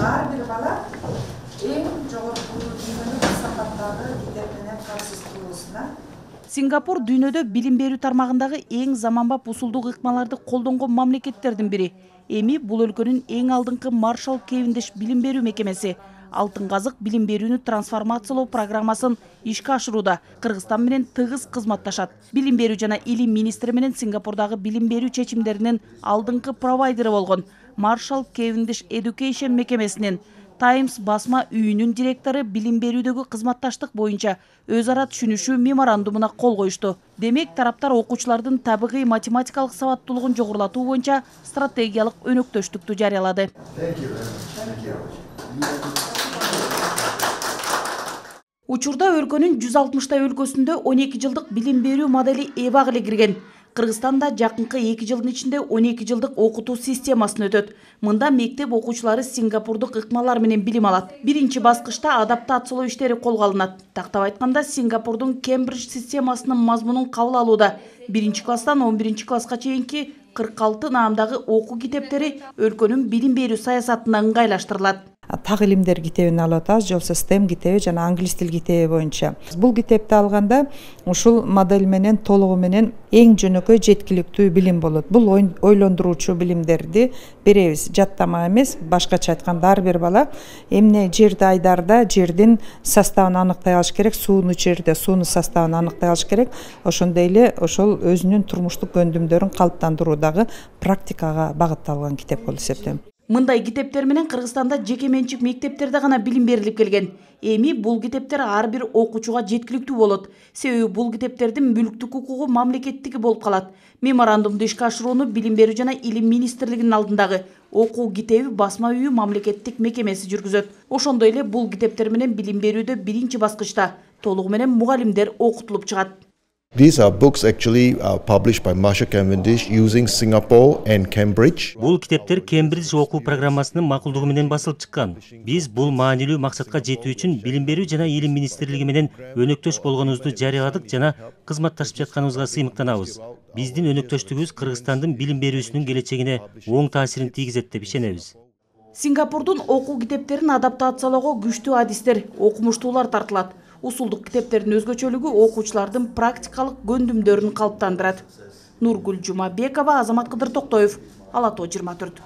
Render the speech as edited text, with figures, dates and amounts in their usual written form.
ар бир бала эң жогорку дүйнөлүк сапаттагы китеп менен камсыз кылуусуна. Сингапур дүйнөдө билим берүү тармагындагы эң заманбап усулдук ыкмаларды колдонгон мамлекеттердин бири. Эми бул өлкөнүн эң алдыңкы Маршал Кевиндиш билим берүү мекемеси Алтын казык билим берүүнү трансформациялоо программасын ишке ашырууда Кыргызстан менен тыгыз кызматташат. Билим берүү жана илим министри менен Сингапурдагы билим берүү чечимдеринин алдыңкы провайдери болгон Marshall Cavendish Education мекемесинин Times басма үйүнүн директору билим берүүдөгү кызматташтык боюнча өз ара түшүнүшүү меморандумуна кол коюшту. Демек, тараптар окуучулардын табигый математикалык сабаттуулугун жогорулатуу боюнча стратегиялык өнөктөштүктү жарыялады. Учурда өлкөнүн 160 өлкөсүндө 12 жылдык билим берүү модели эбак эле кирген. Кыргызстанда жакынкы 2 жылдын ичинде 12 жылдык окутуу системасын өтөт. Мында мектеп окуучулары сингапурдук ыкмалар менен билим алат. Биринчи баскычта адаптациялоо иштери колго алынат. Тактап айтканда, Сингапурдун Кембридж системасынын мазмунун кабыл алууда 1-класстан 11-класска чейинки 46 наамдагы окуу китептери өлкөнүн билим берүү саясатына ыңгайлаштырылат. Так илимдер китебин алып атабыз, же болбосо STEM китеби жана англис тил китеби боюнча. Бул китепти алганда ушул модель менен толугу менен эң жөнөкөй жеткиликтүү билим болот. Бул ойлондуруучу билимдерди беребиз. Жаттама эмес, башкача айтканда ар бир бала эмне жерди айдарда жердин составын аныктай алыш керек, сууну ичерде суунун составын аныктай алыш керек. Ошондой эле ошол өзүнүн турмуштук көндүмдөрүн калыптандыруудагы практикага багытталган китеп болуп эсептейм. Мындай китептер менен Кыргызстанда жеке менчик мектептерде гана билим берилип келген. Эми бул китептер ар бир окуучуга жеткиликтүү болот. Себеби бул китептердин мүлктүк укугу мамлекеттики болуп калат. Меморандумду ишке ашырууну билим берүү жана илим министрлигинин алдындагы окуу китеби басма үйү мамлекеттик мекемеси жүргүзөт. Ошондой эле бул китептер менен билим берүүдө биринчи баскычта толугу менен мугалимдер окутулуп чыгат. These are books actually published by Marshall Cavendish using Singapore and Cambridge. Бул китептер Кембридж окуу программасынын макулдугу менен басылып чыккан. Биз бул маанилүү максатка жетүү үчүн билим берүү жана илим министрлиги менен өнөктөш болгонубузду жарыяладык жана кызматташып жатканыбызга сыймыктанабыз. Биздин өнөктөштүгүбүз Кыргызстандын билим берүүсүнүн келечегине оң таасирин тийгизет деп ишенебиз. Сингапурдун окуу китептерин адаптациялоого күчтүү адистер, окумуштуулар тартылат. Усулдук китептердин өзгөчөлүгү окуучулардын практикалык көндүмдөрүн калыптандырат. Нургүл Жумабекова, Азамат Кыдыр Токтоев, Ала Тоо 24.